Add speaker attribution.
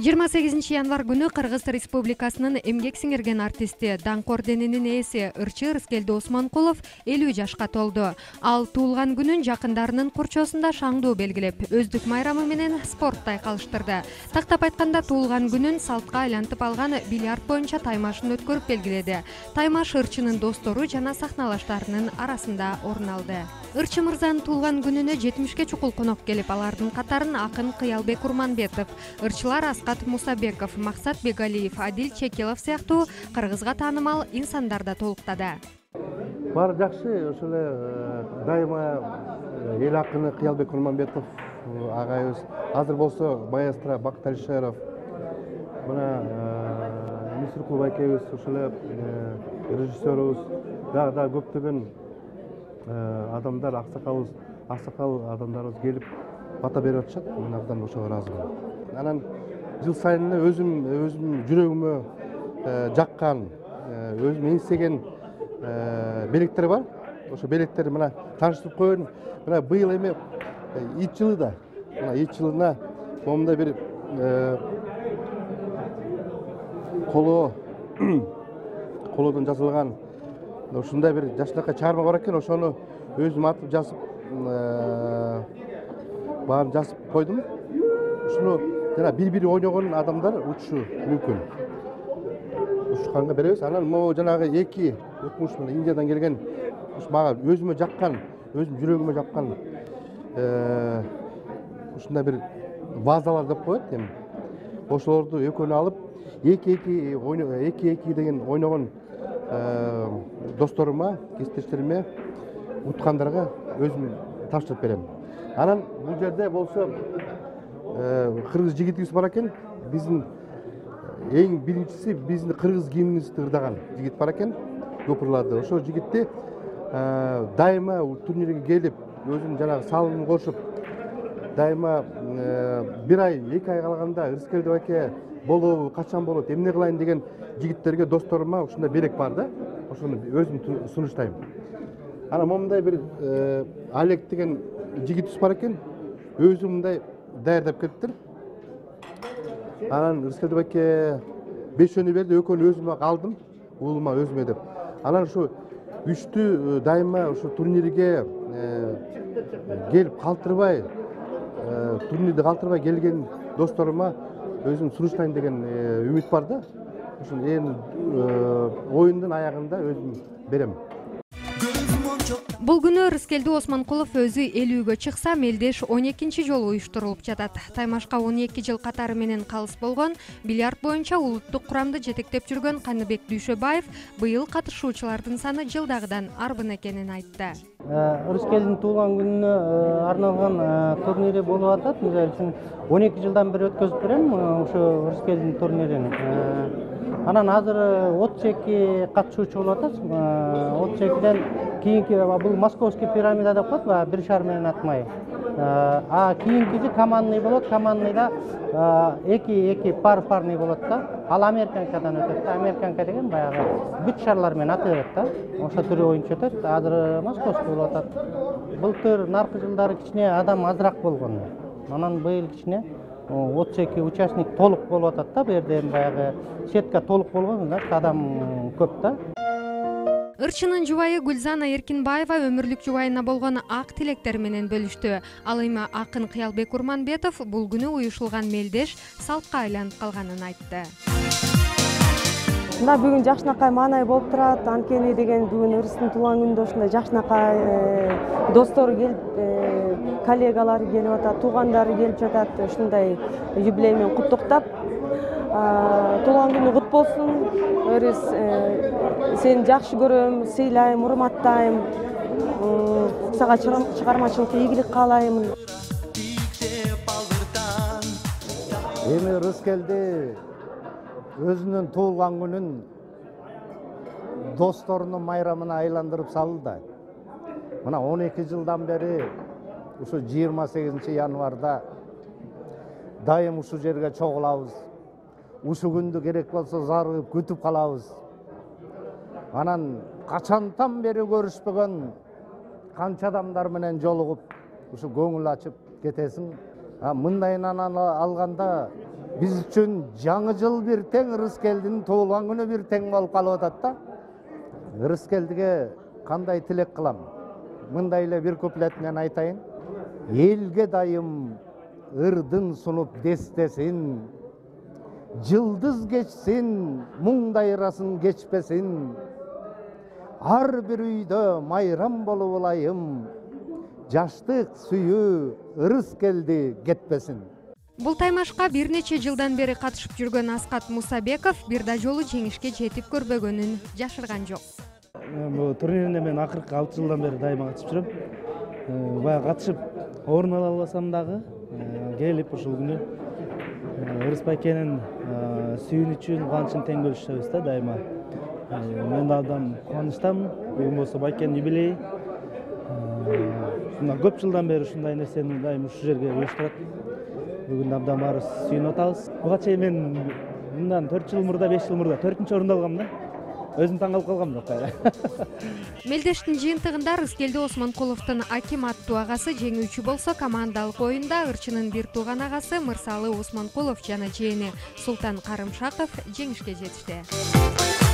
Speaker 1: 28 январ күнү Кыргыз Республикасынын эмгек сиңирген артисти, даңк орденинин ээси ырчы Рыскелди Осмонкулов 50 жашка толду. Ал туулган күнүн жакындарынын курчоосунда шаңдуу белгилеп, өздүк майрамы менен спортто айкалыштырды. Тактап айтканда, туулган күнүн салтка айлантып алган бильярд боюнча таймашын өткөрүп белгиледи. Таймаш ырчынын достору жана сахналаштарынын арасында орун алды. Ырчы мырзанын туулган күнүнө 70 чукул конок келип, алардын катарын акын Кыялбек Урманбетов, ырчылар Аскат Мусабеков, Максат Бегалиев, Адил Чекилов сыяктуу кыргызга таанымал инсандар да толуктады.
Speaker 2: Баары жакшы, ошол эле дайыма эл акыны Кыялбек Урманбетов агайыбыз, азыр болсо маэстро Бакыт Алишеров, мына Мисиркул байкебиз, ошол эле режиссерубуз, дагы көптөгөн адамдар, аксакал адамдарыбыз келип бата берип атышат. Мен абдан ошого ыраазымын. Анан жыл сайын өзүм жүрөгүмө жаккан, өзүм эңсеген белектер бар. Ошо белектерди мына тааныштырып коеюн. Мына быйыл эми ит жылы да. Мына ит жылына момундай бир колодон жасалган ушундай бир жакшынакай чыгарма бар экен. Ошону өзүм атып жазып, баарын жазып койдум. Ушуну жана бири ойногон адамдар учушу мүмкүн. Учканга беребиз. Анан могу жанагы эки өкмүш менен Индиядан келген, мага өзүмө жаккан, өзүм жүрөгүмө жаккан ушундай бир вазалар деп коет эми. Ошолорду экөөнү алып, эки деген ойногон досторума, кесиптештериме, уткандарга өзүм тапшырып берем. Анан бул жерде болсо кыргыз жигитибиз бар экен. Биздин эң биринчиси биздин кыргыз гимнибизди ырдаган жигит бар экен, көпүрларды. Ошол жигитти дайыма турнирге келип, өзүнүн жанагы салымын кошуп, дайыма бир ай, 2 ай калганда Рыскелди байке болобу, качан болот, эмне кылайын деген жигиттерге, досторума ушундай белек бар да. Ошону өзүм сунуштайм. Анан момундай бир Олег деген жигитибиз бар экен. Өзү мындай даярдап келиптир. Анан Рыскелди байке 5 берди, экөөнү өзүмө алдым, уулума өзүмө деп. Анан ушу үчтү дайыма ушу турнирге келип калтырбай, турнирди калтырбай келген досторума өзүм сунуштайын деген үмүт бар да. Ушун оюндун аягында өзүм берем.
Speaker 1: Бул күнү Рыскелди Осмонкулов өзү 50-гө чыкса, мелдеш 12-чи жолу уюштурулуп жатат. Таймашка 12 жыл катары менен калыс болгон, бильярд боюнча улуттук курамды жетектеп жүргөн Каныбек Дүйшөбаев быйыл катышуучулардын саны жылдагыдан арбын экенин айтты.
Speaker 3: Рыскелдин туулган күнүнө арналган турнири болуп атат. Мисалы үчүн 12 жылдан бери өткөзүп берем ошо Рыскелдин турнирин. Анан азыр 32 катышуучу болуп атат. 32ден кийинки бул московский пирамида деп коет, бир шар менен атмай. Кийинкиси командный болот. Командныйда эки парный болот да. Ал американкадан өтөт. Американка деген баягы бүт шарлар менен ата берет да. Ошо түрү боюнча өтөт. Азыр московский болуп атат. Былтыр наркы жылдары кичине адам азыраак болгон. Анан быйыл кичине 32 участник толук болуп атат да. Бу жерде баягы сетка толук болгон, значит адам көп да.
Speaker 1: Ырчынын жубайы Гүлзана Эркинбаева өмүрлүк жубайына болгон ак тилектери менен бөлүштү. Ал эми акын Кыялбек Урманбетов бул күнү уюшулган мелдеш салтка айланып калганын айтты.
Speaker 4: Мына бүгүн жакшынакай маанай болуп турат. Анткени деген бүгүн ырыстын туулган күнүндө ушундай жакшынакай достору келип, коллегалары келип атат, туугандары келип жатат. Ушундай юбилей менен куттуктап, туулган күнүң кут болсун. Өрүс сени жакшы көрөм, сыйлайм, урматтайм. Сага чыгармачылыкта ийгилик каалайм.
Speaker 5: Эми Рыскелди өзүнүн туулган күнүн досторунун майрамына айландырып салды да. Мына 12 жылдан бери ушу 28 январда дайым ушу жерге чогулабыз. Ушу күндү керек болсо зарыгып күтүп калабыз. Анан качантан бери көрүшпөгөн канча адамдар менен жолугуп, ушу көңүл ачып кетесиң. Мындайынан алганда биз үчүн жаңы жыл бир тең, Ырыскелдин туулган күнү бир тең болуп калып атат да. Ырыскелдиге кандай тилек кылам? Мындай эле бир куплет менен айтайын. Элге дайым ырдын сунуп дестесин, жылдыз кечсин, муңдайрасын кечпесин. Ар бир үйдө майрам болуп алайым, жаштык сүйүү Ырыскелди кетпесин.
Speaker 1: Бул таймашка бир нече жылдан бери катышып жүргөн Аскат Мусабеков бир да жолу жеңишке жетип көрбөгөнүн жашырган жок.
Speaker 3: Бул турнирде мен акыркы 6 жылдан бери дайыма катышып жүрөм. Бая катышып орун ала албасам дагы келип ушул күнү Ырыс байкенин сүйүнүчүн, кубанычын тең бөлүшөбүз да дайыма. Мен да абдан кубанычтамын. Бүгүн болсо байкенин юбилейи. Көп жылдан бери ушундай нерсени дайыма ушул жерге уюштурат. Бүгүн абдан баарыбыз сүйүнүп атабыз. Буга чейин мен мындан 4 жыл мурда, 5 жыл мурда 4-орунду алгам да. Өзүм таң калып калгам да.
Speaker 1: Мелдештин жыйынтыгында Ырыскелди Осмонкуловдун Аким аттуу агасы жеңүүчү болсо, командалык оюнда Ырчынын бир тууган агасы Мырсалы Осмонкулов жана жээни Султан Карымшаков жеңишке жетишти.